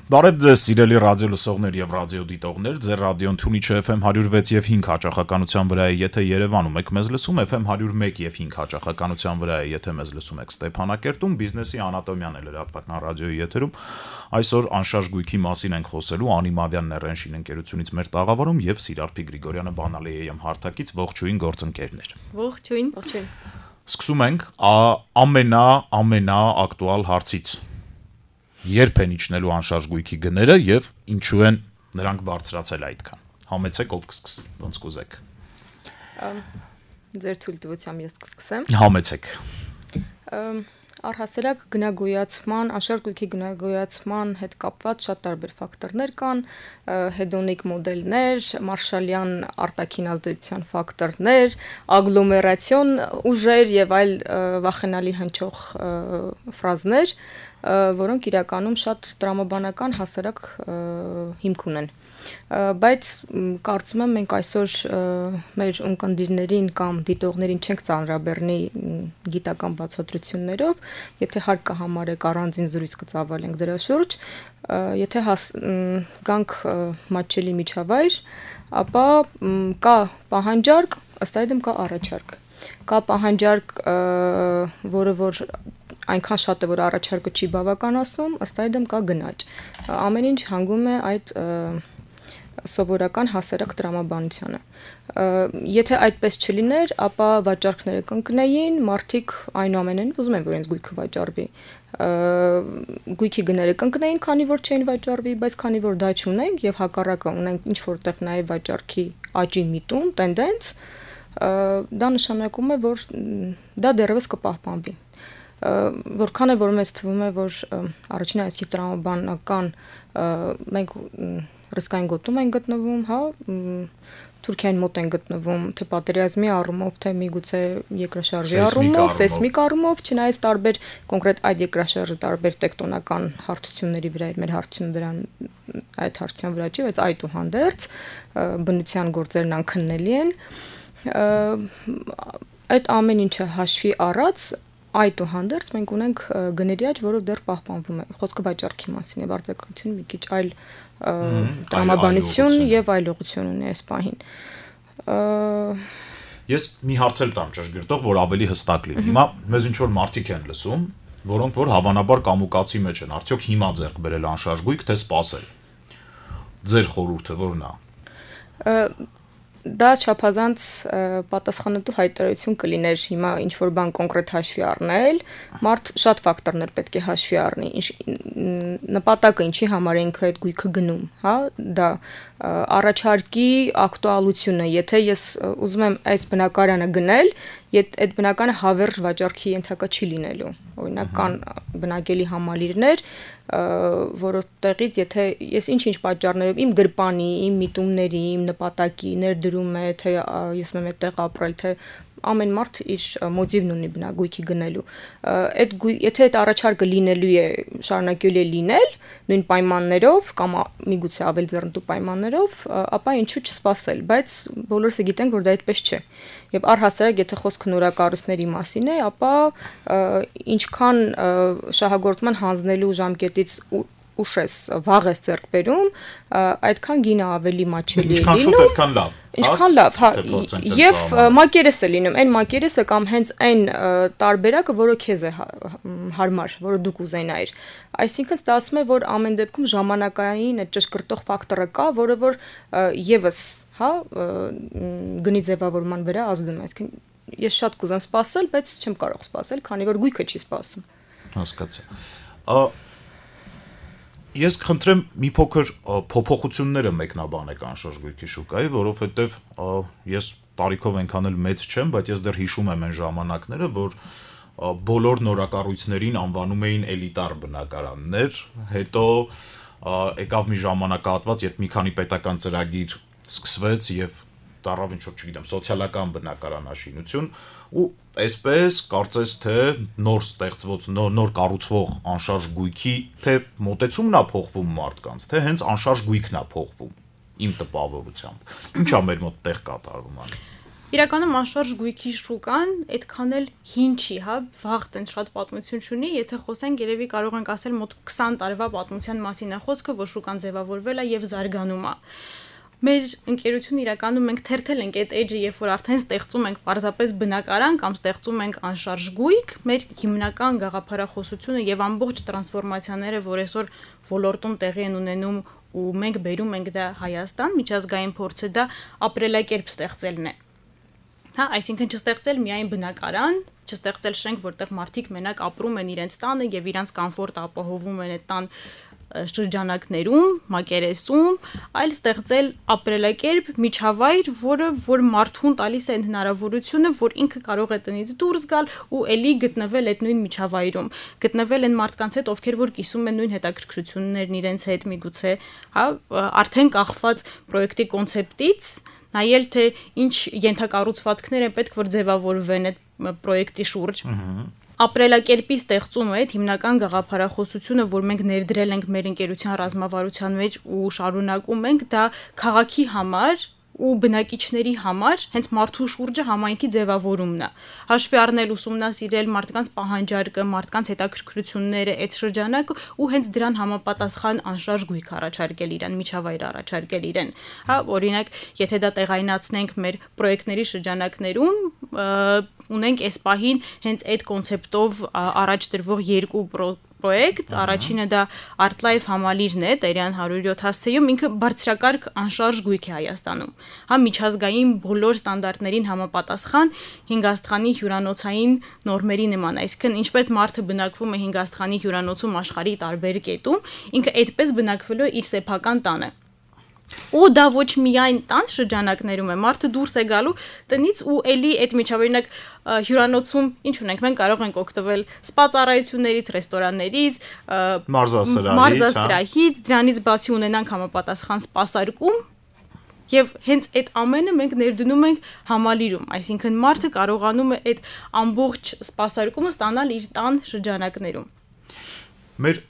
Բարև ձեզ, սիրելի ռադիո լսողներ եւ ռադիո դիտողներ, ձեր ռադիոն Թունիչը FM 106 եւ 5 հաճախականության վրա է, եթե Երևանում եք մեզ լսում, FM 101 եւ 5 հաճախականության վրա է, եթե մեզ լսում եք Ստեփանակերտում, բիզնեսի անատոմիան է լրատվական ռադիոյի եթերում։ Այսօր անշարժ գույքի մասին ենք խոսելու Անիմավյան Ներենշին ընկերությունից մեր տաղավարում եւ Սիրարփի Գրիգորյանը Բանալիեյեմ հարթակից ողջույն գործընկերներ։ Ողջույն, ողջույն։ Սկսում ենք ամենա ակտուալ հարցից։ Երբ են իջնելու անշարժ գույքի գները եւ ինչու են նրանք բարձրացել այդքան։ Համեցեք ով կսկսի, ոնց կուզեք։ Ձեր թույլտվությամբ ես կսկսեմ։ Համեցեք։ Առհասարակ գնագոյացման, անշարժ գույքի գնագոյացման հետ կապված շատ տարբեր ֆակտորներ կան, հեդոնիկ մոդելներ, մարշալյան արտաքին ազդեցության ֆակտորներ, ագլոմերացիոն ուժեր եւ այլ վախենալի հնչող ֆրազներ, որոնք իրականում շատ տրամաբանական հասարակ հիմք ունեն։ Բայց կարծում եմ մենք այսօր մեր ունկնդիրներին կամ դիտողներին չենք ծանրաբեռնի գիտական բացատրություններով, եթե հարկ կհամարեք առանձին զրույց կծավալենք դրա շուրջ, եթե գանք մատչելի միջավայր, ապա կա պահանջարկ, ըստ այդմ կա առաջարկ։ Կա պահանջարկ, որը որ այնքան շատ է, որ առաջարկը չի բավականացնում, ըստ այդմ կա գնաճ։ Ամեն ինչ հանգում է այդ սովորական հասարակ տրամաբանությանը։ Եթե այդպես չլիներ, ապա վաճառքները կընկնեին, մարդիկ այնուամենայն ուզում են, որ իրենց գույքը վաճառվի։ Գույքի գները կընկնեին, քանի որ չէին վաճառվի, բայց քանի որ դա չունենք եւ հակառակը ունենք ինչ որտեղ նաեւ վաճառքի աճի միտում, տենդենց, դա նշանակում է, որ դա դեռևս կպահպանվի։ Որքան է որ մեզ թվում է, որ առաջին այսքի տրամաբանական մենք ռիսկային գոտում են գտնվում, հա, Թուրքիային մոտ են գտնվում, թե պատերազմի առումով, թե միգուցե երկրաշարժի առումով, սեյսմիկ առումով, չնայած տարբեր կոնկրետ այդ երկրաշարժը տարբեր տեկտոնական հարթությունների վրա էր, մեր հարթությունը դրան այդ հարթության վրա չի, բայց այդուհանդերձ բնության գործերն անքննելի են։ Այդ ամեն ինչը հաշվի առած այդուհանդերձ մենք ունենք գների աճ, որով դեռ պահպանվում է։ Խոսքը վաճառքի մասին է, արձակրությունը մի քիչ այլ տրամաբանություն եւ այլողություն ունի այս պահին։ Ես մի հարց էլ տամ ճշգրտող, որ ավելի հստակ լինի։ Հիմա մեզ ինչ որ մարդիկ են լսում, որոնք որ հավանաբար կամուկացի մեջ են, արդյոք հիմա ձեռք բերել անշարժ գույք, թե սպասել։ Ձեր խորհուրդը ո՞րն է։ Դա չափազանց պատասխանատու հայտարարություն կլիներ հիմա ինչ որ բան կոնկրետ հաշվի առնել, մարդ շատ ֆակտորներ պետք է հաշվի առնի, նպատակը ինչի համար ենք այդ գույքը գնում, հա, դա առաջարկի ակտուալությունը, եթե ես ուզում եմ այս բնակարանը գնել, այդ բնականը հավերժ վաճառքի ենթակա չի լինելու, օրինակ կան բնակելի համալիրներ, որովհետեւ եթե ես ինչ-ինչ պատճառներով իմ գրպանի, իմ միտումների, իմ նպատակի ներդրում է, թե ես եմ այդտեղ ապրել, թե ամեն մարդ իր մոտիվն ունի բնագույքի գնելու։ Եթե այդ առաջարկը լինելու է, շարունակելու է լինել նույն պայմաններով կամ միգուցե ավելի ձեռնտու պայմաններով, ապա ինչու չսպասել, բայց բոլորս գիտենք, որ դա այդպես չէ։ Եվ առհասարակ եթե խոսքը նորակառույցների մասին է, ապա ինչքան շահագործման հանձնելու ժամկետից ուշ ես, վաղ ես ձեռք բերում, այդքան գինը ավելի մատչելի է լինում։ Ինչքան լավ։ Ինչքան լավ, հա, եւ մակերես է լինում, այն մակերեսը կամ հենց այն տարբերակը, որը քեզ է հարմար, որը դու կուզենայիր։ Այսինքն դա ասում է, որ ամեն դեպքում ժամանակային այդ ճշգրտող ֆակտորը կա, որը որ եւս, հա, գնի ձևավորման վրա ազդում է։ Այսինքն ես շատ կուզեմ սպասել, բայց չեմ կարող սպասել, քանի որ գույքը չի սպասում։ Հասկացա։ Ես կխնդրեմ մի փոքր փոփոխությունները մեկնաբանեք անշարժ գույքի շուկայի, որովհետև ես տարիքով այնքան էլ մեծ չեմ, բայց ես դեռ հիշում եմ այն ժամանակները, որ բոլոր նորակառույցներին անվանում էին էլիտար բնակարաններ, հետո եկավ մի ժամանակահատված, երբ մի քանի պետական ծրագիր սկսվեց եւ դառավ ինչ որ չգիտեմ, սոցիալական բնակարանաշինություն ու այսպես կարծես թե նոր ստեղծված, նոր կառուցվող անշարժ գույքի թե մոտեցումն է փոխվում մարդկանց, թե հենց անշարժ գույքն է փոխվում իմ տպավորությամբ։ Ինչ է մեր մոտ տեղ կատարվում անի։ իրականում անշարժ գույքի շուկան այդքան էլ հին չի, հա, վաղ տենց շատ պատմություն չունի, եթե խոսենք, երևի կարող ենք ասել մոտ 20 տարվա պատմության մասին է խոսքը, որ շուկան ձևավորվել է եւ զարգանում է։ Մեր ընկերությունը իրականում մենք թերթել ենք այդ edge-ը, երբ որ արդեն ստեղծում ենք պարզապես բնակարան կամ ստեղծում ենք անշարժ գույք, մեր հիմնական գաղափարախոսությունը եւ ամբողջ տրանսֆորմացիաները, որ այսօր ոլորտում տեղի են ունենում ու մենք բերում ենք դա Հայաստան, միջազգային փորձը դա ապրելակերպ ստեղծելն է։ Հա, այսինքն չստեղծել միայն բնակարան, չստեղծել շենք, որտեղ մարդիկ մենակ ապրում են իրենց տանը եւ իրենց կոմֆորտը ապահովում են այդ տան շրջանակներում, մակերեսում, այլ ստեղծել ապրելակերպ, միջավայր, որ մարդուն տալիս է հնարավորությունը, որ ինքը կարող է տնից դուրս գալ ու էլի գտնվել այդ նույն միջավայրում, գտնվել են մարդկանց հետ, ովքեր որ կիսում են նույն հետաքրքրություններն իրենց հետ, միգուցե, հա, արդեն կախված պրոյեկտի կոնցեպտից, նայել թե ինչ ենթակառուցվածքներ են պետք որ ձևավորվեն այդ պրոյեկտի շուրջ։ Ապրելակերպի ստեղծումը այդ հիմնական գաղափարախոսությունը, որ մենք ներդրել ենք մեր ընկերության ռազմավարության մեջ ու շարունակում ենք, դա քաղաքի համար ու բնակիչների համար հենց մարդու շուրջը համայնքի ձևավորումն է։ Հաշվի առնել ուսումնասիրել մարդկանց պահանջարկը, մարդկանց հետաքրքրությունները, այդ շրջանակը ու հենց դրան համապատասխան անշարժ գույք առաջարկել իրեն, միջավայր առաջարկել իրեն։ Հա, օրինակ, եթե դա տեղայնացնենք մեր պրոյեկտների շրջանակներում, ունենք այս պահին հենց այդ կոնցեպտով առաջ դրվող երկու պրոյեկտ, առաջինը դա ArtLife համալիրն է, Տերյան 107 հասցեում, ինքը բարձրակարգ անշարժ գույք է Հայաստանում։ Հա, միջազգային բոլոր ստանդարտներին համապատասխան 5 աստղանի հյուրանոցային նորմերի նման, այսինքն ինչպես մարդը բնակվում է 5 աստղանի հյուրանոցում աշխարհի տարբեր կետում, ինքը այդպես բնակվելու է իր սեփական տանը։ Ու դա ոչ միայն տան շրջանակներում է, մարդը դուրս է գալու տնից ու էլի այդ միջավայրինակ հյուրանոցում ինչ ունենք, մենք կարող ենք օգտվել սպա ծառայություններից, ռեստորաններից, մարզասրահից, դրանից բացի ունենանք համապատասխան սպասարկում եւ հենց այդ ամենը մենք ներդնում ենք համալիրում, այսինքն մարդը կարողանում է այդ ամբողջ սպասարկումը ստանալ իր տան շրջանակներում։ Մեր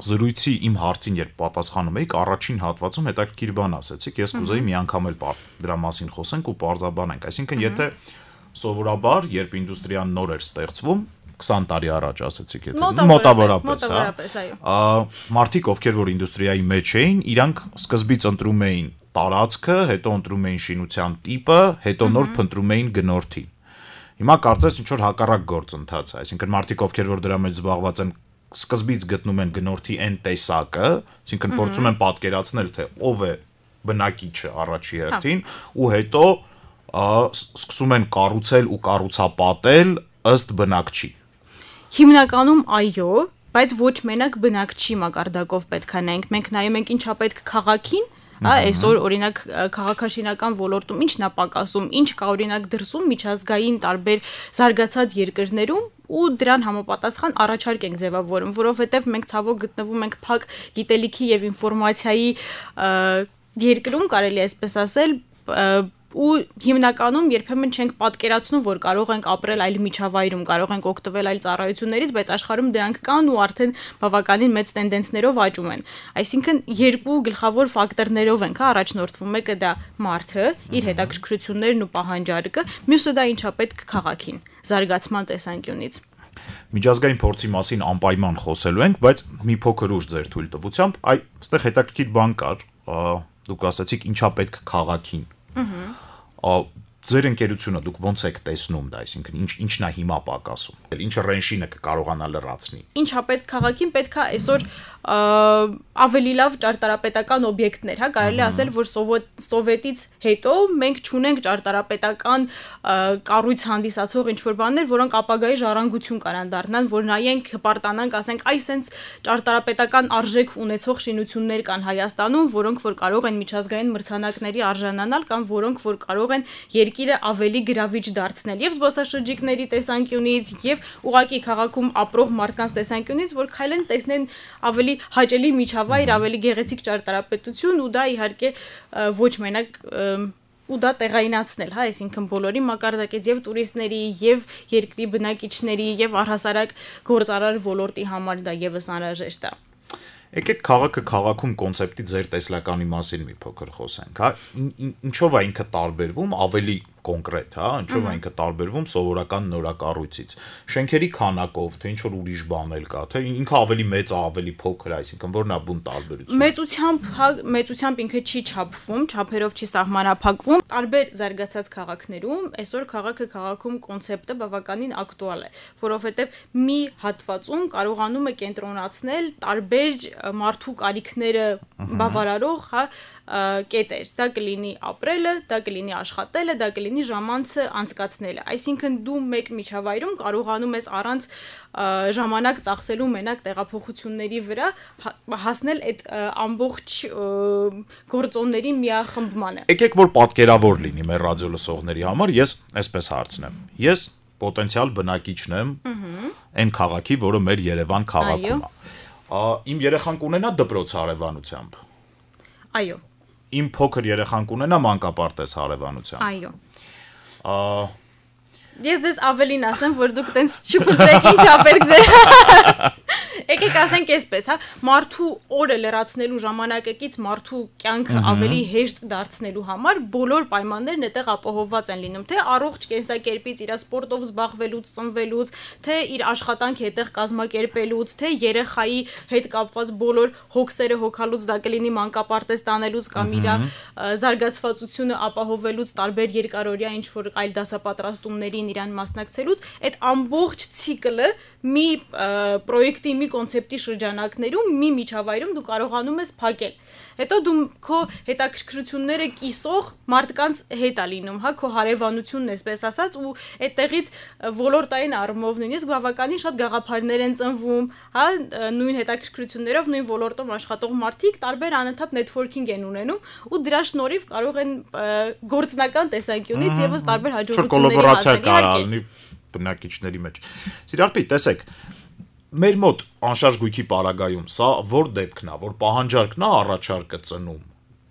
զրույցի իմ հարցին երբ պատասխանում եք, առաջին հատվածում հետաքրքիր բան ասեցիք, ես կուզեի մի անգամ էլ դրա մասին խոսենք ու պարզաբանենք, այսինքն եթե սովորաբար, երբ ինդուստրիան նոր էր ստեղծվում, 20 տարի առաջ ասեցիք, եթե մոտավորապես, հա, մարդիկ, ովքեր որ ինդուստրիայի մեջ էին, իրանք սկզբից ընտրում էին տարածքը, հետո ընտրում էին շինության տիպը, հետո նոր փնտրում էին գնորդին։ Հիմա կարծես ինչ որ հակառակ գործընթաց է, այսինքն մարդիկ, ովքեր որ դրա մեջ զբաղված են սկզբից գտնում են գնորդի այն տեսակը, այսինքն փորձում են պատկերացնել, թե ով է բնակիչը առաջի հերթին, ու հետո սկսում են կառուցել ու կառուցապատել ըստ բնակչի։ Հիմնականում այո, բայց ոչ մենակ բնակչի մակարդակով պետք է նայենք, մենք նայում ենք ինչա պետք քաղաքին, այսօր օրինակ քաղաքաշինական ոլորտում ինչն է պակասում, ինչ կա օրինակ դրսում միջազգային տարբեր զարգացած երկրներում ու դրան համապատասխան առաջարկ ենք ձևավորում, որովհետև մենք ցավոք գտնվում ենք փակ գիտելիքի եւ ինֆորմացիայի երկրում, կարելի է այսպես ասել, ու հիմնականում երբեմն չենք պատկերացնում, որ կարող ենք ապրել այլ միջավայրում, կարող ենք օգտվել այլ ծառայություններից, բայց աշխարհում դրանք կան ու արդեն բավականին մեծ տենդենսներով աճում են։ Այսինքն երկու գլխավոր ֆակտորներով ենք առաջնորդվում, մեկը դա մարդը, իր հետաքրքրություններն ու պահանջարկը, մյուսը դա ինչա պետք քաղաքին, զարգացման տեսանկյունից։ Միջազգային փորձի մասին անպայման խոսելու ենք, բայց մի փոքր ուշ ձեր թույլտվությամբ, այստեղ հետաքրքիր բան կար, դուք ասացիք ինչա պետք քաղաքին։ Ձեր ընկերությունը դուք ոնց եք տեսնում դա, այսինքն ինչն է հիմա պակասում, ինչը ռենշինը կկարողանա լրացնի։ Ինչա պետք քաղաքին պետք է այսօր ավելի լավ ճարտարապետական օբյեկտներ, հա, կարելի ասել, որ սովետից հետո մենք չունենք ճարտարապետական կառույց հանդիսացող ինչ-որ բաներ, որոնք ապագայի ժառանգություն կարան դառնան, որ նայենք, հպարտանանք, ասենք, այ սենց ճարտարապետական արժեք ունեցող շինություններ կան Հայաստանում, որոնք որ կարող են միջազգային մրցանակների արժանանալ կամ որոնք որ կարող են երկիրը ավելի գրավիչ դարձնել եւ զբոսաշրջիկների տեսանկյունից եւ ուղղակի քաղաքում ապրող մարդկանց տեսանկյունից, որ քայլեն տեսնեն ավելի հաճելի միջավայր, ավելի գեղեցիկ ճարտարապետություն ու դա իհարկե ոչ մենակ ու դա տեղայնացնել, հա, այսինքն բոլորի մակարդակից եւ տուրիստների եւ երկրի բնակիչների եւ առհասարակ գործարար ոլորտի համար դա եւս անհրաժեշտ է։ Եկեք քաղաքը քաղաքում կոնցեպտի ձեր տեսլականի մասին մի փոքր խոսենք, հա, ինչով է ինքը տարբերվում ավելի կոնկրետ, հա, ինչով այնքը տարբերվում սովորական նորակառույցից։ Շենքերի քանակով, թե ինչ որ ուրիշ բան էլ կա, թե ինքը ավելի մեծ, ավելի փոքր, այսինքն որն է բուն տարբերությունը։ Մեծությամբ ինքը չի չափվում, չափերով չի սահմանափակվում։ Տարբեր զարգացած քաղաքներում այսօր քաղաքում կոնցեպտը բավականին ակտուալ է, որովհետև մի հատվածում կարողանում է կենտրոնացնել տարբեր մարդու կարիքները բավարարող, հա, կետեր, դա կլինի ապրելը, դա կլինի աշխատելը, դա կլինի ժամանցը անցկացնելը։ Այսինքն դու մեկ միջավայրում կարողանում ես առանց ժամանակ ծախսելու մենակ տեղափոխությունների վրա հասնել այդ ամբողջ գործոնների միախմբմանը։ Եկեք որ պատկերավոր լինի մեր ռադիո լսողների համար, ես այսպես հարցնեմ։ Ես պոտենցիալ բնակիչն եմ այն քաղաքի, որը մեր Երևան քաղաքում է։ Իմ երեխան կունենա դպրոց հարևանությամբ։ Այո։ Իմ փոքր երեխան կունենա մանկապարտեզ հարևանությամբ։ Այո։ Ես դες ավելին ասեմ, որ դուք տենց չփնտրեք ինչ ապերք ձեր։ Եկեք ասենք այսպես, հա, մարդու օրը լրացնելու ժամանակակից մարդու կյանքը ավելի հեշտ դարձնելու համար բոլոր պայմաններն այդտեղ ապահովված են լինում, թե առողջ կենսակերպից, իր սպորտով զբաղվելուց, ծնվելուց, թե իր աշխատանքը այդտեղ կազմակերպելուց, թե երեխայի հետ կապված բոլոր հոգսերը հոգալուց, դա կլինի մանկապարտեզ տանելուց կամ իր զարգացվածությունը ապահովելուց, տարբեր երկարօրյա ինչ որ այլ դասապատրաստումներին իրան մասնակցելուց, այդ ամբողջ ցիկլը մի պրոյեկտի, մի կոնցեպտի շրջանակներում, մի միջավայրում դու կարողանում ես փակել։ Հետո դու քո հետաքրքրությունները կիսող մարդկանց հետ է լինում, հա, քո հարևանությունն էսպես ասած, ու այդտեղից ոլորտային առումով նույնիսկ բավականին շատ գաղափարներ են ծնվում, հա, նույն հետաքրքրություններով, նույն ոլորտում աշխատող մարդիկ տարբեր անընդհատ նեթվորքինգ են ունենում, ու դրա շնորհիվ կարող են գործնական տեսանկյունից եւս տարբեր հաջողությունների հասնել բնակիչների մեջ։ Սիրարպի, տեսեք, մեր մոտ անշարժ գույքի պարագայում սա որ դեպքն է, որ պահանջարկն է առաջարկը ծնում,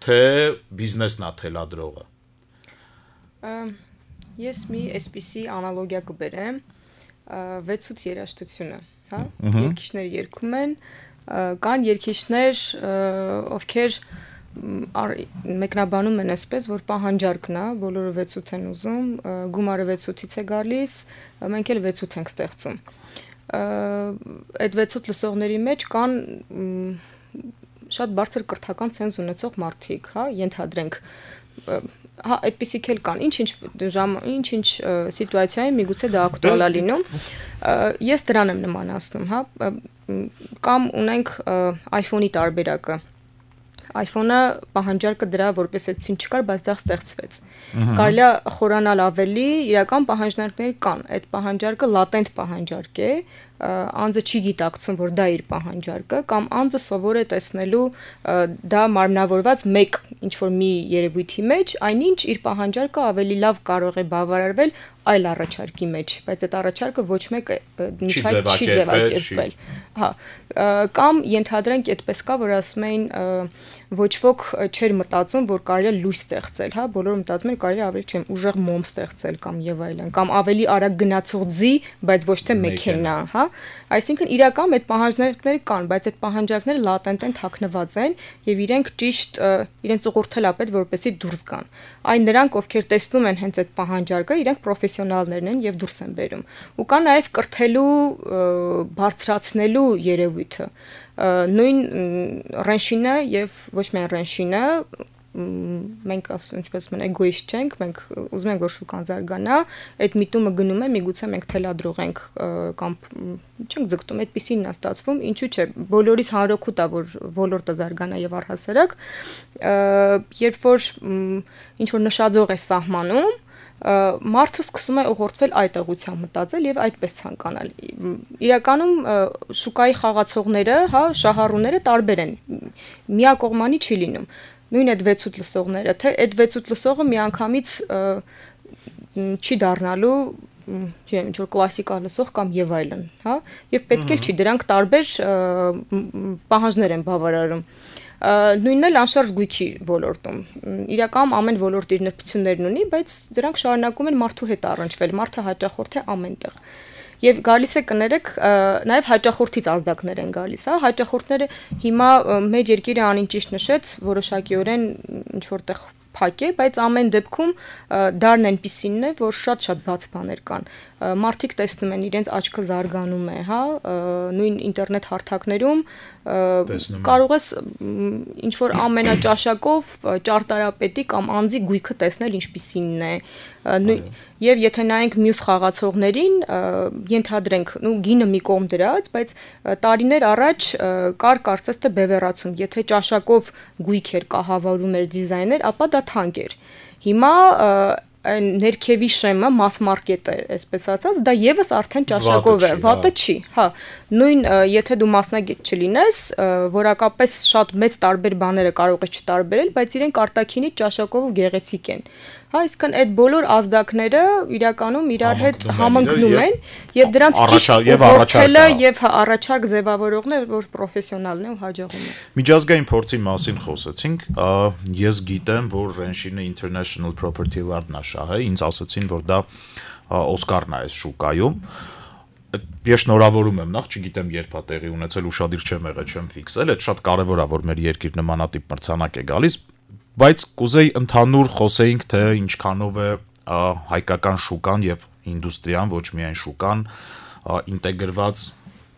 թե բիզնեսն է թելադրողը։ Ես մի այսպիսի անալոգիա կբերեմ 6-8 երաժշտությունը, հա, երգիչները երգում են, կան երգիչներ, ովքեր մեկնաբանում են այսպես, որ պահանջարկն է, բոլորը 6-8 են ուզում, գումարը 6-8-ից է գալիս, մենք էլ 6-8 ենք ստեղծում։ Այդ 6-8 լսողների մեջ կան շատ բարձր կրթական ցենզ ունեցող մարդիկ, հա, ենթադրենք, հա, այդպիսիք էլ կան, ինչ-ինչ սիտուացիայում միգուցե դա ակտուալ է լինում։ Ես դրան եմ նմանացնում, հա, կամ ունենք iPhone-ի տարբերակը։ iPhone-ը պահանջարկը դրա որպես այդպեսին չկար, բայց դա ստեղծվեց։ Կարելի է խորանալ ավելի, իրական պահանջարկներ կան։ Այդ պահանջարկը լատենտ պահանջարկ է, անձը չի գիտակցում, որ դա իր պահանջարկը, կամ անձը սովոր է տեսնելու դա մարմնավորված մեկ ինչ-որ մի երևույթի մեջ, այնինչ իր պահանջարկը ավելի լավ կարող է բավարարվել այլ առաջարկի մեջ, բայց այդ առաջարկը ոչ մեկը չի ձևակերպվել։ Հա, կամ ենթադրենք այդպես կա, որ ասում էին ոչ ոք չէր մտածում, որ կարելի է լույս ստեղծել, հա, բոլորը մտածում են կարելի է ավելի չեմ ուժեղ մոմ ստեղծել կամ եւ այլն, կամ ավելի արագ գնացող ձի, բայց ոչ թե մեքենա, հա։ Այսինքն իրական այդ պահանջարկները կան, բայց այդ պահանջարկները լատենտ են, թաքնված են եւ իրենք ճիշտ իրենց ուղղորդել է պետք, որպեսզի դուրս գան։ Այն նրանք, ովքեր տեսնում են հենց այդ պահանջարկը, իրենք պրոֆեսիոնալներն են եւ դուրս են բերում։ Ու կա նաեւ կրթելու, բարձրացնելու երևույթը։ Նույն ռենշինը եւ ոչ միայն ռենշինը, մենք ասում ինչպես մեն էգոիստ չենք, մենք ուզում ենք որ շուկան զարգանա, այդ միտումը գնում է, միգուցե մենք թելադրող ենք կամ չենք ձգտում, այդպեսին է ստացվում, ինչու՞ չէ, բոլորիս հանրօգուտ է որ ոլորտը զարգանա եւ առհասարակ, երբ որ ինչ որ նշաձող է սահմանում, մարդը սկսում է ուղղորդվել այդ ուղղությամբ մտածել եւ այդպես ցանկանալ։ Իրականում շուկայի խաղացողները, հա, շահառուները տարբեր են։ Միակողմանի չի լինում։ Նույն այդ 6-8 լսողները, թե այդ 6-8 լսողը միանգամից չի դառնալու, չէ, ինչ որ կլասիկա լսող կամ եւ այլն, հա, եւ պետք է չի, դրանք տարբեր պահանջներ են բավարարում։ Նույնն էլ անշարժ գույքի ոլորտում։ Իրականում ամեն ոլորտ իր նրբություններն ունի, բայց դրանք շարունակում են մարդու հետ առնչվել, մարդը հաճախորդ է ամենտեղ։ Եվ գալիս է կներեք, նաև հաճախորդից ազդակներ են գալիս, հա, հաճախորդները հիմա մեր երկիրը անին ճիշտ նշեց, որոշակիորեն ինչ որտեղ փակ է, բայց ամեն դեպքում դարն այնպիսինն է, որ շատ բաց բաներ կան։ Մարդիկ տեսնում են իրենց աչքը զարգանում է, հա, նույն ինտերնետ հարթակներում կարող ես ինչ որ ամենաճաշակով ճարտարապետի կամ անձի գույքը տեսնել ինչպիսինն է, եւ եթե նայենք մյուս խաղացողներին, ենթադրենք, գինը մի կողմ դրած, բայց տարիներ առաջ կար կարծես թե բևեռացում, եթե ճաշակով գույք էր կահավարում էր դիզայներ, ապա դա թանկ էր։ Հիմա այն ներքևի շեմը mass market-ը, այսպես ասած, դա եւս արդեն ճաշակով է, վատը չի, հա։ Նույն եթե դու մասնագետ չլինես, որակապես շատ մեծ տարբեր բաները կարող ես չտարբերել, բայց իրենք արտաքինից ճաշակով գեղեցիկ են։ Հա, իսկն այդ բոլոր ազդակները իրականում իրար հետ համընկնում են եւ դրանց ճիշտ որդելը եւ առաջարկ ձևավորողն է, որ պրոֆեսիոնալն է ու հաջողում է։ Միջազգային փորձի մասին խոսեցինք, ես գիտեմ, որ Renshin-ը International Property Award-ն է շահել, ինձ ասացին, որ դա Օսկարն է այս շուկայում։ Ես շնորհավորում եմ, նախ չգիտեմ երբ է տեղի ունեցել, ուշադիր չեմ եղել, չեմ ֆիքսել, այդ շատ կարեւոր է, որ մեր երկիր նմանատիպ մրցանակ է գալիս, բայց կուզեի ընդհանուր խոսեինք, թե ինչքանով է հայկական շուկան եւ ինդուստրիան, ոչ միայն շուկան, ինտեգրված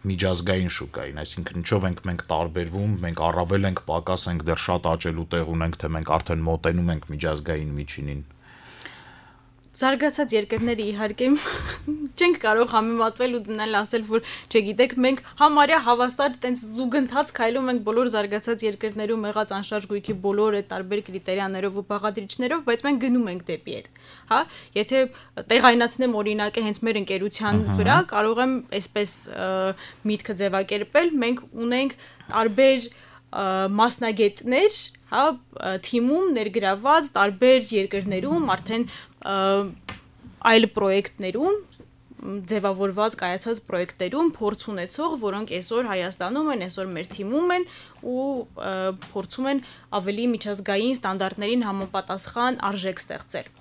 միջազգային շուկային, այսինքն ինչով ենք մենք տարբերվում, մենք առավել ենք, պակաս ենք, դեռ շատ աճելու տեղ ունենք, թե մենք արդեն մոտենում ենք միջազգային միջինին։ Զարգացած երկրները իհարկե չենք կարող համեմատվել ու դնել ասել, որ չգիտեք, մենք համարյա հավասար տենց զուգընթաց քայլում ենք բոլոր զարգացած երկրներում եղած անշարժ գույքի բոլոր այդ տարբեր կրիտերիաներով ու բաղադրիչներով, բայց մենք գնում ենք դեպի այդ, հա, եթե տեղայնացնեմ օրինակը հենց մեր ընկերության վրա, կարող եմ այսպես միտքը ձևակերպել, մենք ունենք տարբեր մասնագետներ, հա, թիմում ներգրաված տարբեր երկրներում արդեն այլ պրոյեկտներում ձևավորված կայացած պրոյեկտերում փորձ ունեցող, որոնք այսօր Հայաստանում են, այսօր մեր թիմում են ու փորձում են ավելի միջազգային ստանդարտներին համապատասխան արժեք ստեղծել։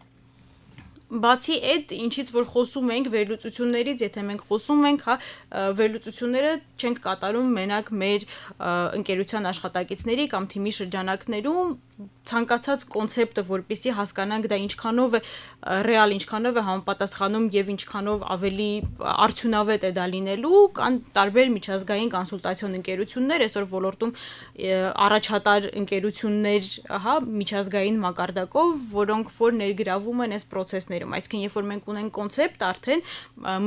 Բացի այդ, ինչից որ խոսում ենք վերլուծություններից, եթե մենք խոսում ենք, հա, վերլուծությունները չենք կատարում մենակ մեր ընկերության աշխատակիցների կամ թիմի շրջանակներում, ցանկացած կոնցեպտը, որպեսզի հասկանանք դա ինչքանով է ռեալ, ինչքանով է համապատասխանում եւ ինչքանով ավելի արդյունավետ է դա լինելու, կան տարբեր միջազգային կոնսուլտացիոն ընկերություններ, այսօր ոլորտում առաջատար ընկերություններ, հա, միջազգային մակարդակով, որոնք որ ներգրավում են այս process-ներում, այսինքն երբ որ մենք ունենք կոնցեպտ արդեն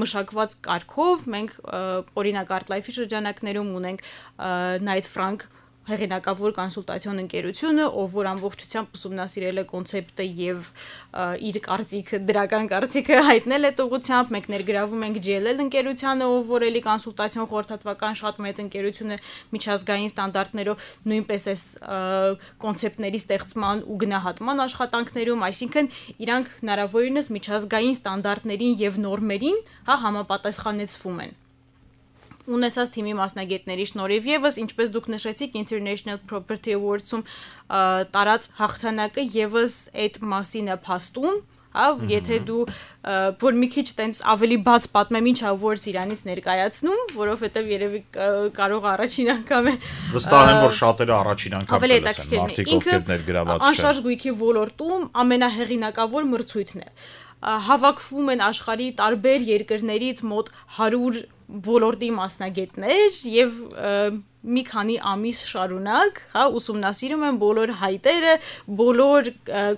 մշակված կարգով, մենք օրինակ ArtLife-ի շրջանակներում ունենք Knight Frank հեղինակավոր կոնսուլտացիոն ընկերությունը, ով որ ամբողջությամբ ուսումնասիրել է կոնցեպտը եւ իր կարծիքը, դրական կարծիքը հայտնել է ուղղությամբ, մենք ներգրավում ենք GLL ընկերությանը, ով որ էլի կոնսուլտացիոն խորհրդատվական շատ մեծ ընկերություն է միջազգային ստանդարտներով, նույնպես էս կոնցեպտների ստեղծման ու գնահատման աշխատանքներում, այսինքն իրանք հնարավորինս միջազգային ստանդարտներին եւ նորմերին, հա, համապատասխանեցվում են։ Ունեցած թիմի մասնագետների շնորհիվ եւս, ինչպես դուք նշեցիք, International Property Awards-ում տարած հաղթանակը եւս այդ մասին է փաստում, հա, եթե դու որ մի քիչ տենց ավելի բաց պատմեմ ինչ awards իրանից ներկայացնում, որովհետեւ երևի կարող առաջին անգամ է վստահ եմ, որ շատերը առաջին անգամ կլսեն, մարդիկ ովքեր ներգրաված չեն։ Անշարժ գույքի ոլորտում ամենահեղինակավոր մրցույթն է։ Հավաքվում են աշխարհի տարբեր երկրներից մոտ 100 ոլորտի մասնագետներ եւ մի քանի ամիս շարունակ, հա, ուսումնասիրում են բոլոր հայտերը, բոլոր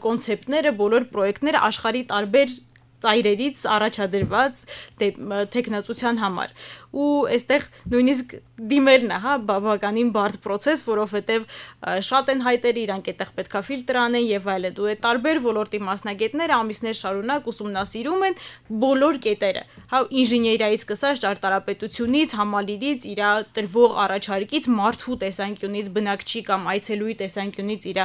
կոնցեպտները, բոլոր պրոյեկտները աշխարհի տարբեր ծայրերից առաջադրված տեխնացության համար ու այստեղ նույնիսկ դիմելն է, հա, բավականին բարդ process, որովհետև շատ են հայտերը, իրանք այդտեղ պետքա ֆիլտր անեն եւ այլն, ու այդ տարբեր ոլորտի մասնագետները ամիսներ շարունակ ուսումնասիրում են բոլոր կետերը, հա, ինժեներիայից սկսած ճարտարապետությունից, համալիրից, իր տրվող առաջարկից, մարդու տեսանկյունից, բնակչի կամ այցելուի տեսանկյունից, իր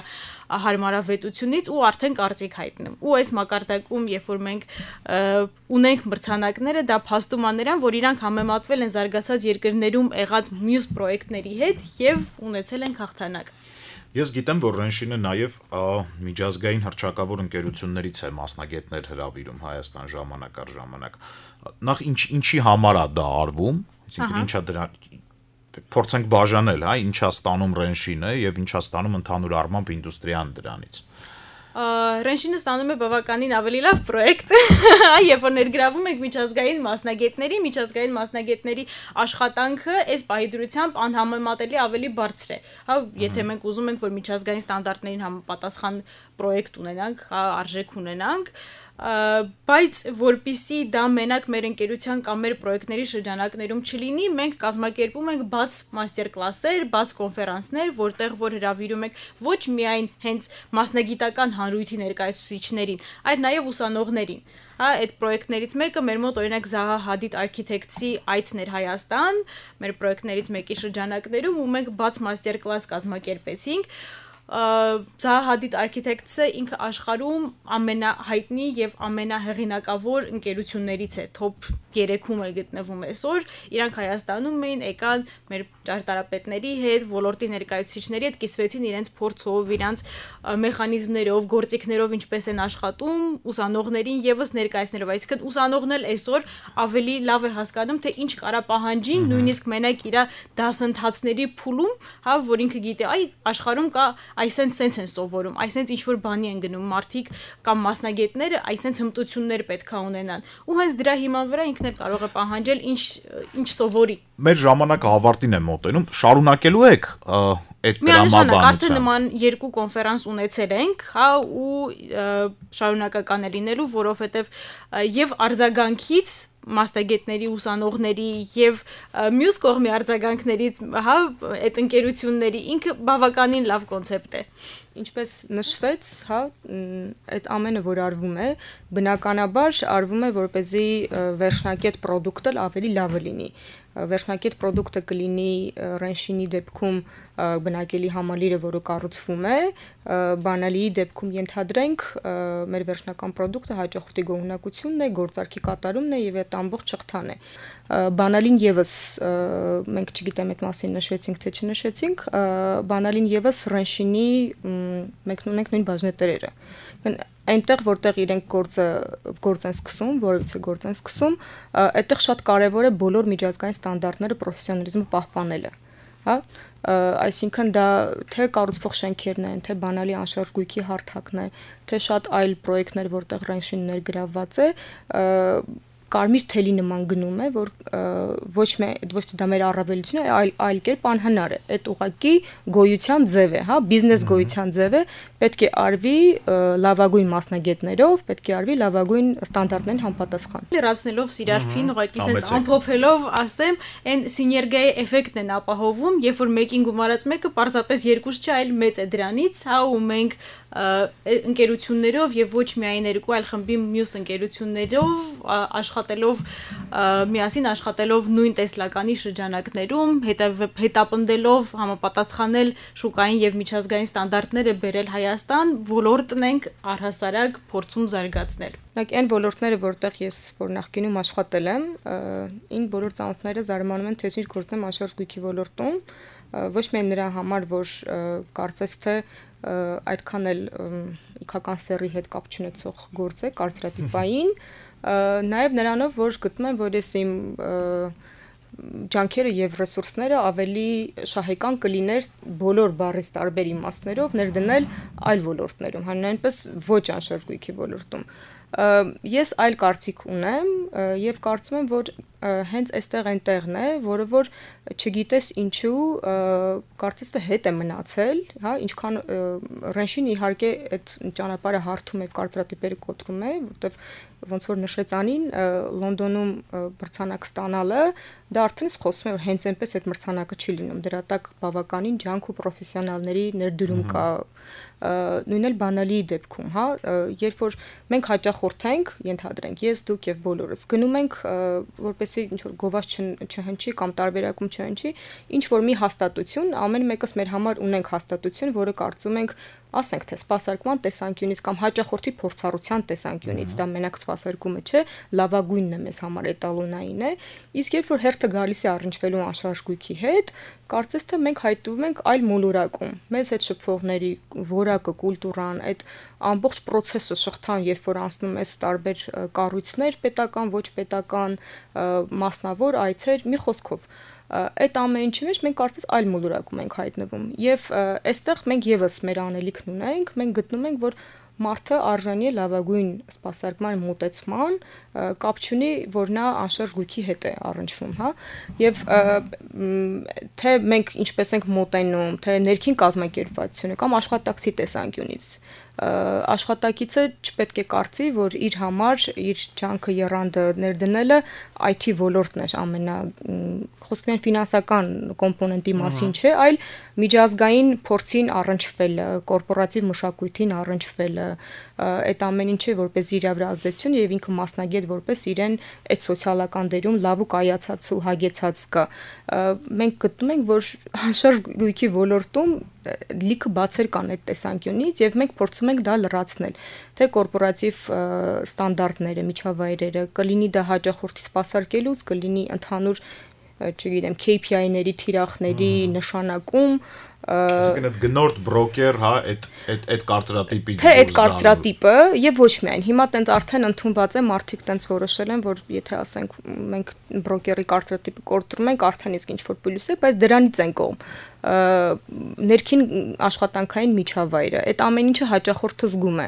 հարմարավետությունից ու արդեն կարծիք հայտնում։ Ու այս մակարդակում, երբ որ մենք ունենք մրցանակները, դա փաստում է նրան, որ իրանք համեմատվել են զարգացած երկրներում եղած մյուս պրոյեկտների հետ եւ ունեցել են հաղթանակ։ Ես գիտեմ, որ Renshin-ը նաեւ միջազգային հռչակավոր ընկերություններից է մասնագետներ հրավիրում Հայաստան ժամանակ առ ժամանակ։ Նախ ինչի համար է դա արվում, այսինքն ինչա դրա փորձենք բաժանել, հա, ինչա ստանում Renshin-ը եւ ինչա ստանում ընդհանուր առմամբ ինդուստրիան դրանից։ Ռենշինը ստանում է բավականին ավելի լավ պրոյեկտ, երբ որ ներգրավում ենք միջազգային մասնագետների աշխատանքը այս պահի դրությամբ անհամեմատելի ավելի բարձր է։ Հա, եթե մենք ուզում ենք, որ միջազգային ստանդարտներին համապատասխան պրոյեկտ ունենանք, արժեք ունենանք, բայց որpիսի դա մենակ մեր ընկերության կամ մեր պրոյեկտների շրջանակներում չլինի, մենք կազմակերպում ենք բաց մաստեր-կլասեր, բաց կոնֆերանսներ, որտեղ որ հրավիրում ենք ոչ միայն հենց մասնագիտական հանրույթի ներկայացուցիչներին, այլ նաև ուսանողներին։ Հա, այդ պրոյեկտներից մեկը մեր մոտ օրինակ Zaha Hadid Architects-ի այցն էր Հայաստան, մեր պրոյեկտներից մեկի շրջանակներում, ու մենք բաց մաստեր-կլաս կազմակերպեցինք։ Zaha Hadid Architects-ը ինքը աշխարհում ամենահայտնի եւ ամենահեղինակավոր ընկերություններից է, top 3-ում է գտնվում այսօր։ Իրանք Հայաստանում էին, եկան մեր ճարտարապետների հետ, ոլորտի ներկայացուցիչների հետ, կիսվեցին իրենց փորձով, իրենց մեխանիզմներով, գործիքներով ինչպես են աշխատում, ուսանողներին եւս ներկայացնելով, այսինքն ուսանողն էլ այսօր ավելի լավ է հասկանում, թե ինչ կարա պահանջին, նույնիսկ մենակ իր դասընթացների փուլում, հա, որ ինքը գիտե, այ աշխարհում կա այսենց սենց են սովորում, այսենց ինչ որ բանի են գնում մարդիկ կամ մասնագետները, այսենց հմտություններ պետք է ունենան։ Ու հենց դրա հիման վրա ինքն էլ կարող է պահանջել ինչ սովորի։ Մեր ժամանակը ավարտին է մոտենում, շարունակելու եք այդ տրամաբանությունը։ Արդեն նման 2 կոնֆերանս ունեցել ենք, հա, ու շարունակական է լինելու, որովհետև եւ արձագանքից մասնագետների, ուսանողների եւ մյուս կողմի արձագանքներից, հա, այդ ընկերությունների ինքը բավականին լավ կոնցեպտ է։ Ինչպես նշվեց, հա, այդ ամենը որ արվում է, բնականաբար արվում է, որպեսզի վերջնակետ պրոդուկտը ավելի լավը լինի։ Վերջնակետ պրոդուկտը կլինի Ռենշինի դեպքում բնակելի համալիրը, որը կառուցվում է, բանալիի դեպքում ենթադրենք մեր վերջնական պրոդուկտը հաճախորդի գոհունակությունն է, գործարքի կատարումն է եւ այդ ամբողջ շղթան է։ Բանալին եւս մենք չգիտեմ այդ մասին նշեցինք թե չնշեցինք, բանալին եւս Ռենշինի մենք ունենք նույն բաժնետերերը։ Այնտեղ որտեղ իրենք գործ են սկսում, որից է գործ են սկսում, այդտեղ շատ կարևոր է բոլոր միջազգային ստանդարտները, պրոֆեսիոնալիզմը պահպանելը, հա, այսինքն դա թե կառուցվող շենքերն են, թե բանալի անշարժ գույքի հարթակն է, թե շատ այլ պրոյեկտներ, որտեղ Ռենշին ներգրավված է, կարմիր թելի նման գնում է, որ ոչ թե դա մեր առավելություն է, այլ կերպ անհնար է։ Այդ ուղղակի գոյության ձև է, հա, բիզնես գոյության ձև է, պետք է արվի լավագույն մասնագետներով, պետք է արվի լավագույն ստանդարտներին համապատասխան։ Լրացնելով Սիրարփին, ուղղակի sense ամփոփելով, ասեմ, այն սիներգիայի էֆեկտն են ապահովում, երբ որ մեկին գումարած մեկը պարզապես երկուս չէ, այլ մեծ է դրանից, հա, ու մենք ընկերություններով եւ ոչ միայն երկու այլ խմբի մյուս ընկերություններով աշխատելով միասին աշխատելով նույն տեսլականի շրջանակներում, հետապնդելով համապատասխանել շուկային եւ միջազգային ստանդարտները բերել Հայաստան, ոլորտն ենք առհասարակ փորձում զարգացնել։ Նայեք, այն ոլորտները, որտեղ ես որ նախկինում աշխատել եմ, ին բոլոր ծանոթները զարմանում են, թե ինչ գործում եմ անշարժ գույքի ոլորտում, ոչ միայն նրա համար, որ կարծես թե այդքան էլ իքական սեռի հետ կապ չունեցող գործ է, կարծրատիպային, նաև նրանով, որ գտնում եմ, որ ես իմ ջանքերը եւ ռեսուրսները ավելի շահեկան կլիներ բոլոր բառից տարբեր իմաստներով ներդնել այլ ոլորտներում, հանրայնպես ոչ անշարժ գույքի ոլորտում։ Ես այլ կարծիք ունեմ եւ կարծում եմ, որ հենց այստեղ այնտեղն է, որը որ չգիտես ինչու կարծես թե հետ է մնացել, հա, ինչքան Ռենշին իհարկե այդ ճանապարհը հարթում է, կարծրատիպերը կոտրում է, որտեվ ոնց որ նշեց Անին, Լոնդոնում մրցանակ ստանալը, դա արդեն խոսում է, որ հենց այնպես այդ մրցանակը չի լինում, դրա տակ բավականին ջանք ու պրոֆեսիոնալների ներդրում կա, նույն էլ բանալիի դեպքում, հա, երբ որ մենք հաճախորդ ենք, ենթադրենք, ես, դուք եւ բոլորս գնում ենք, որպեսզի ինչ որ գովազ չհնչի կամ տարբերակում չհնչի, ինչ որ մի հաստատություն, ամեն մեկս մեր համար ունենք հաստատություն, որը կարծում ենք, ասենք թե սպասարկման տեսանկյունից կամ հաճախորդի փորձառության տեսանկյունից, դա մենակ սպասարկումը չէ, լավագույնն է մեզ համար էտալոնային է, իսկ երբ որ հերթը գալիս է առնչվելու անշարժ գույքի հետ, կարծես թե մենք հայտնվում ենք այլ մոլորակում, մեզ հետ շփվողների որակը, կուլտուրան, այդ ամբողջ process-ը շղթան, երբ որ անցնում ես տարբեր կառույցներ, պետական, ոչ պետական, մասնավոր այցեր, մի խոսքով այդ ամեն ինչի մեջ մենք կարծես այլ մոլորակում ենք հայտնվում եւ այստեղ մենք եւս մեր անելիքն ունենք, մենք գտնում ենք, որ մարդը արժանի է լավագույն սպասարկման մոտեցման, կապ չունի, որ նա անշարժ գույքի հետ է առնչվում, հա, եւ թե մենք ինչպես ենք մոտենում, թե ներքին կազմակերպվածությունը կամ աշխատակցի տեսանկյունից աշխատակիցը չպետք է կարծի, որ իր համար իր ջանքը եռանդը ներդնելը IT ոլորտն է խոսքը միայն ֆինանսական կոմպոնենտի մասին չէ, այլ միջազգային փորձին առնչվելը, կորպորատիվ մշակույթին առնչվելը, այդ ամեն ինչը որպես իր վրա ազդեցություն եւ ինքը մասնագետ որպես իրեն այդ սոցիալական դերում լավ ու կայացած ու հագեցած կա։ Մենք գտնում ենք, որ անշարժ գույքի ոլորտում լիքը բացեր կան այդ տեսանկյունից եւ մենք փորձում ենք դա լրացնել, թե կորպորատիվ ստանդարտները, միջավայրերը, կլինի դա հաճախորդի սպասարկելուց, կլինի ընդհանուր, չգիտեմ, KPI-ների, թիրախների նշանակում, այսինքն այդ գնորդ բրոկեր, հա, այդ կարծրատիպի թե այդ կարծրատիպը եւ ոչ միայն հիմա տենց արդեն ընդունված է, մարդիկ տենց որոշել են, որ եթե ասենք մենք բրոկերի կարծրատիպը կորտրում ենք, արդեն իսկ ինչ որ պլյուս է, բայց դրանից են կողմ ներքին աշխատանքային միջավայրը, այդ ամեն ինչը հաճախորդը զգում է,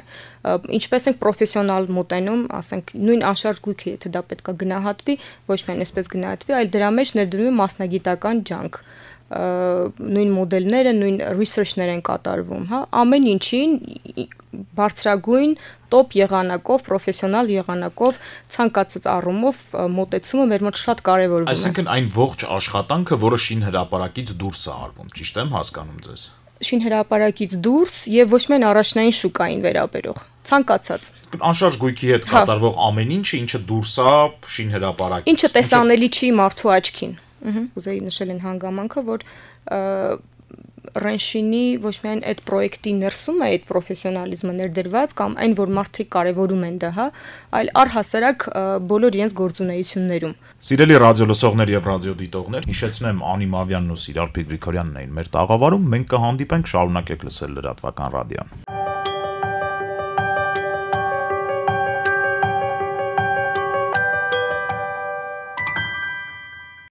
ինչպես ենք պրոֆեսիոնալ մոտենում, ասենք նույն անշարժ գույքը, եթե դա պետքա գնահատվի, ոչ միայն այսպես գնահատվի, այլ դրա մեջ ներդրվում է մասնագիտական ջանք, նույն մոդելները, նույն research-ներ են կատարվում, հա, ամեն ինչին բարձրագույն տոպ եղանակով, պրոֆեսիոնալ եղանակով ցանկացած առումով մոտեցումը մեր մոտ շատ կարևորվում է։ Այսինքն այն ողջ աշխատանքը, որը շինհրապարակից դուրս է արվում, ճիշտ եմ հասկանում ձեզ։ Շինհրապարակից դուրս եւ ոչ միայն առաջնային շուկային վերաբերող, ցանկացած անշարժ գույքի հետ կատարվող ամեն ինչը, ինչը դուրս է շինհրապարակից։ Ինչը տեսանելի չի մարդու աչքին։ Ուզեի նշել են հանգամանքը, որ Ռենշինի ոչ միայն այդ պրոյեկտի ներսում է այդ պրոֆեսիոնալիզմը ներդրված կամ այն, որ մարդիկ կարևորում են դա, հա, այլ առհասարակ բոլոր իրենց գործունեություններում։ Սիրելի ռադիոլսողներ եւ ռադիոդիտողներ, հիշեցնեմ Անի Մավյանն ու Սիրար Փիգրիգորյանն էին մեր տաղավարում, մենք կհանդիպենք, շարունակեք լսել լրատվական ռադիոն։